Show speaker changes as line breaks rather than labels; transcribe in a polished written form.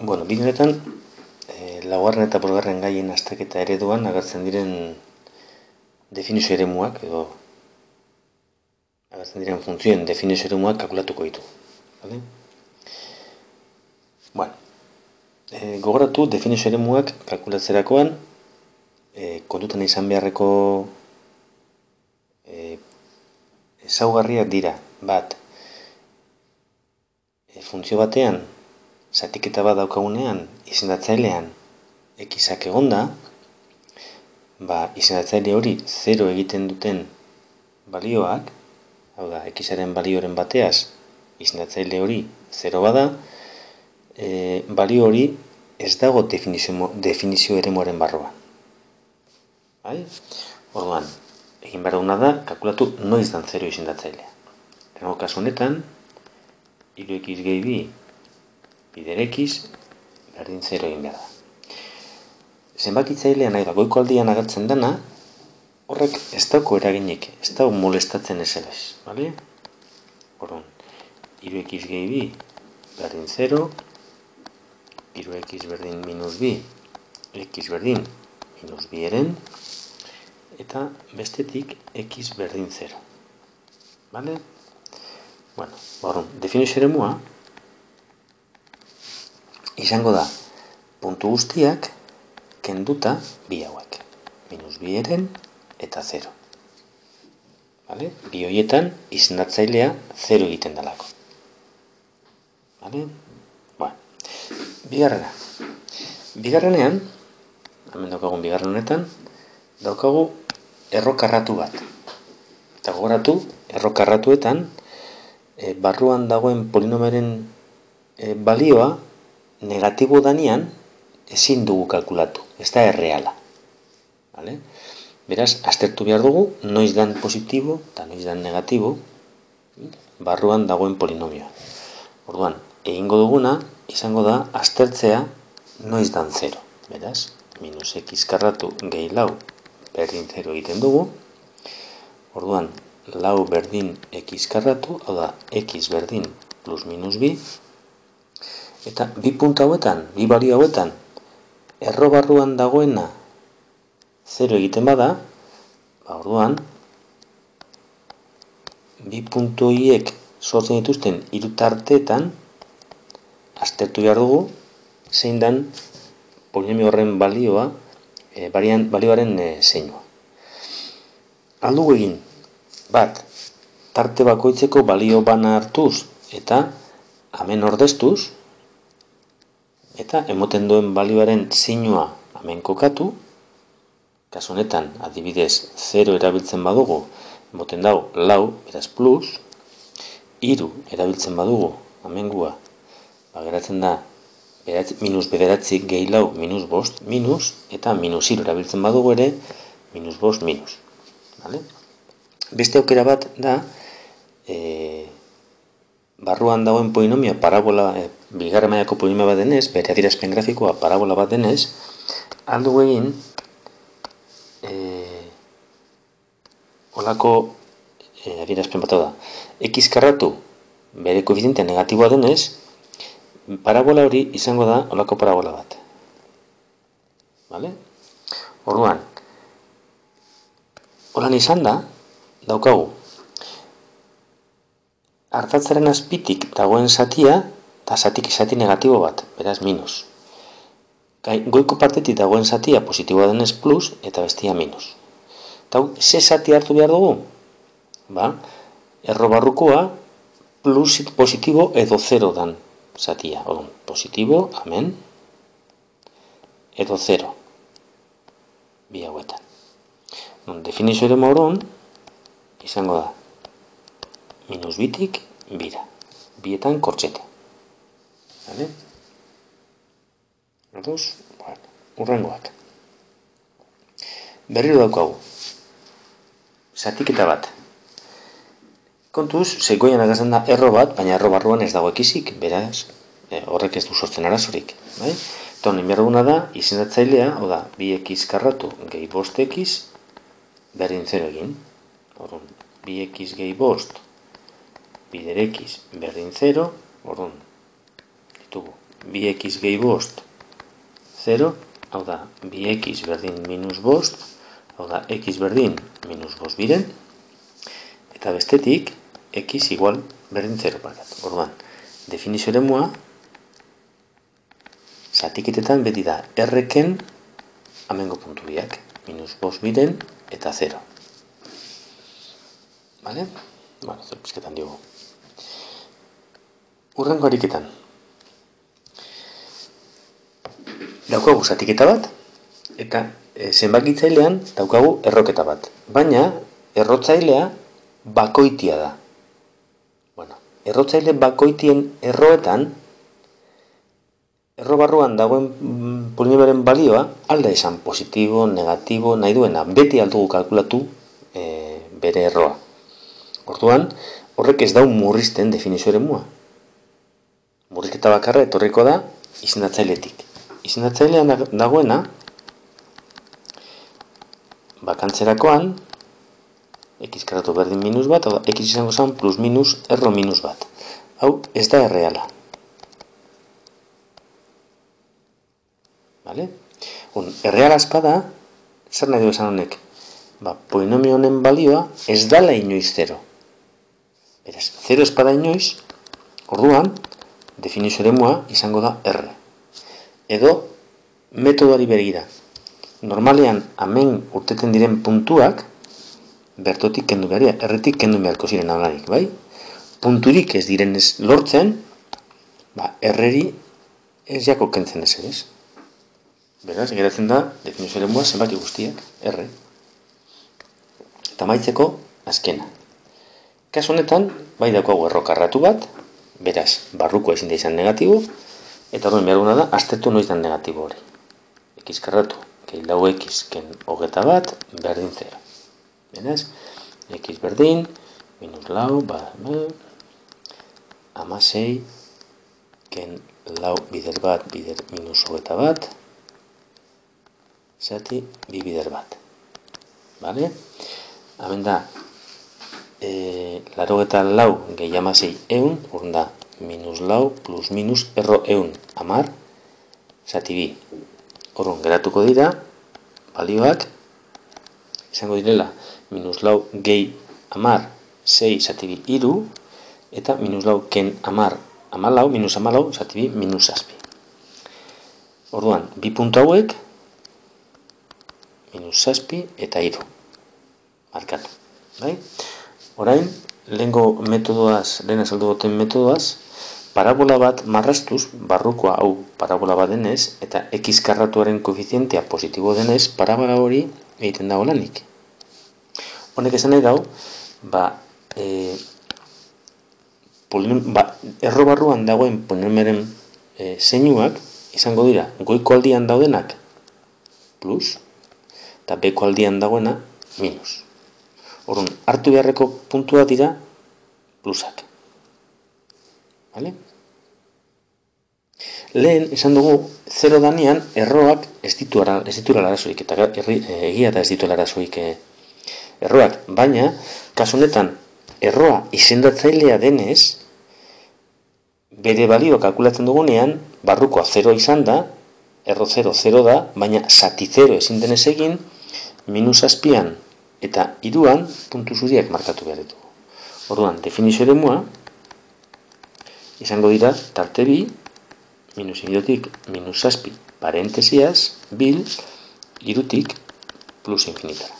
Bide honetan, laugarren eta bosgarren gaien azterketa ereduan agertzen diren definizio eremuak edo agertzen diren funtzioen definizio eremuak kalkulatuko ditu. Vale? Gogoratu definizio eremuak kalkulatzerakoan kontutan izan beharreko ezaugarriak dira. Bat, funtzio batean zatiketa bat daukagunean izendatzailean xak egonda, izendatzaile hori 0 egiten duten balioak, hau da, xaren balioren bateaz izendatzaile hori 0 bada, balio hori ez dago definizio eremuaren barruan. Orduan, egin behar duguna da, kalkulatu noiz dan 0 izendatzailea. Tengo kasu honetan, 3x gehi bi bider x berdin 0 egin behar da. Zenbakitzailea nahi da, goiko aldian agertzen dena, horrek ez dauko eraginik, ez dago molestatzen ezelez. Orduan, 3x gehi bi berdin 0, 3x berdin minus bi, x berdin minus bi eren, eta bestetik x berdin 0. Orduan, definizio eremua izango da puntu guztiak kenduta bi hauek, minus bi eren eta 0. Bi horietan izendatzailea 0 egiten dalako. Bigarrena. Bigarrenean, hemen daukagun bigarren honetan, daukagu errokarratu bat. Eta gogoratu, errokarratuetan, barruan dagoen polinomioaren balioa negatibo danean ezin dugu kalkulatu, ez da erreala. Beraz, aztertu behar dugu, noiz dan positibo eta noiz dan negatibo barruan dagoen polinomioa. Orduan, egingo duguna, izango da, aztertzea noiz dan 0. Beraz, minus x karratu gehi lau berdin 0 egiten dugu. Orduan, lau berdin x karratu, hau da, x berdin plus minus bi. Eta bi puntu hauetan, bi balio hauetan, erro barruan dagoena 0 egiten bada, orduan, bi puntu horiek sortzen dituzten hiru tarteetan, aztertu behar dugu, zein dan polinomio horren balioa, balioaren zeinua. Aldugu egin, bat, tarte bakoitzeko balio bana hartuz eta hemen ordeztuz, eta emoten duen balioaren zeinua hemen kokatu, kasu honetan, adibidez, 0 erabiltzen badugu, emoten dago lau, beraz plus, 3 erabiltzen badugu, hemen gua, geratzen da, minus bederatzi gehi lau minus bost, minus, eta minus 0 erabiltzen badugu ere, minus bost, minus. Beste aukera bat da, barruan dagoen polinomioa parabola, bigarren mailako polinomio bat denez, bere adierazpen grafikoa parabola bat denez, aldugu egin, olako adierazpen bat da, x karratu bere koefizientea negatiboa denez, parabola hori izango da olako parabola bat. Orduan, holan izan da, daukagu, ardatzaren azpitik dagoen zatia, eta zati negatibo bat, beraz minus. Goiko partetik dagoen zatia positiboa denez plus, eta bestia minus. Eta ze zati hartu behar dugu? Erro barrukoa plus positibo edo 0 dan zatia. Positibo, hemen, edo 0. Bi hauetan. Definizio eremu horren, izango da, minus bitik bira. Bietan kortxete. Urrengoak. Berriro daukagu. Zatiketa bat. Kontuz, zeikoian agertzen da erro bat, baina erro barruan ez dago ekisik, beraz, horrek ez du sortzen arazorik. Eta honen behar duguna da, izendatzailea, hau da, 2x karratu gehi bost x, berdin 0 egin. 2x gehi bost, bider x berdin 0, orduan, ditugu 2x gehi bost, 0, hau da, 2x berdin minus bost, hau da, x berdin minus bost biren, eta bestetik, x igual berdin 0 parkat. Orduan, definizio eremua, zatiketetan beti da R-ken amengo puntu biak, minus bost biren eta 0. Vale? Bueno, zer pizketan diogu. Urrengo ariketan. Daukagu zatiketa bat, eta zenbakitzailean daukagu erroketa bat. Baina, errotzailea bakoitia da. Bueno, errotzaile bakoitien erroetan, erro barruan dagoen polinomioaren balioa alda esan positibo, negatibo, nahi duena. Beti aldugu kalkulatu bere erroa. Orduan, horrek ez dau murrizten definizio eremua. Murrizketa bakarra etorriko da izendatzailetik. Izendatzailean dagoena, bakantzerakoan, x karatu berdin minus bat, hau da, x izango zen plus minus erro minus bat. Hau ez da erreala. Vale? Erreala espada, zer nahi du esan honek? Polinomio honen balioa ez dala inoiz 0. Beraz, 0 espada inoiz, orduan, definizio eremua izango da R. Edo, metodoari begira. Normalean, hemen urteten diren puntuak, bertotik kendu beharia, erretik kendu beharko ziren alarik, bai? Punturik ez direnez lortzen, erreri ez jako kentzen ez. Beraz, geratzen da, definizio eremua zenbaki guztiak, R. Eta maitzeko, azkena. Kasu honetan, bai daukagu erro karratu bat, beraz, barruko ezin da izan negatibo, eta horren behar da, aztertu noiz dan negatibo hori. X karratu, gehi lau x ken hogeta bat, berdin 0. Beraz, x berdin, minus lau, amasei, ken lau bider bat, bider minus hogeta bat, zati, bi bider bat. Vale? Hemen da, larogeta lau gehi amasei eun, urren da, minus lau plus minus erro eun, amar, zati bi. Orrun geratuko dira, balioak, izango direla, minus lau gehi amar, 6 zati bi iru, eta minus lau ken amar, amalau, minus amalau, zati bi, minus zazpi. Orduan, bi puntu hauek, minus zazpi eta iru. Markatu. Bai? Orain, lehengo metodoaz, lehen azaldu goten metodoaz, parabola bat marrastuz, barrukoa hau parabola bat denez, eta x karratuaren koefizientea positibo denez, parabola hori egiten dago lanik. Honek esan nahi dau, erro barruan dagoen polinomioaren zeinuak izango dira, goiko aldian daudenak plus, eta beko aldian dagoena minus. Orduan, hartu beharreko puntua dira plusak. Vale? Lehen, esan dugu, 0 danean, erroak ez dituela arazoik, eta egia eta ez dituela arazoik erroak. Baina, kasu honetan, erroa izendatzailea denez, bere balio kalkulatzen dugunean, barrukoa 0 izan da, erro 0, 0 da, baina zati 0 ezin denez egin, minus azpian eta iruan puntu zuriak markatu behar ditugu. Orduan, definizio eremua izango dira tarte bi, minus inidotik minus zazpi parentesiaz, bil, irutik plus infinitara.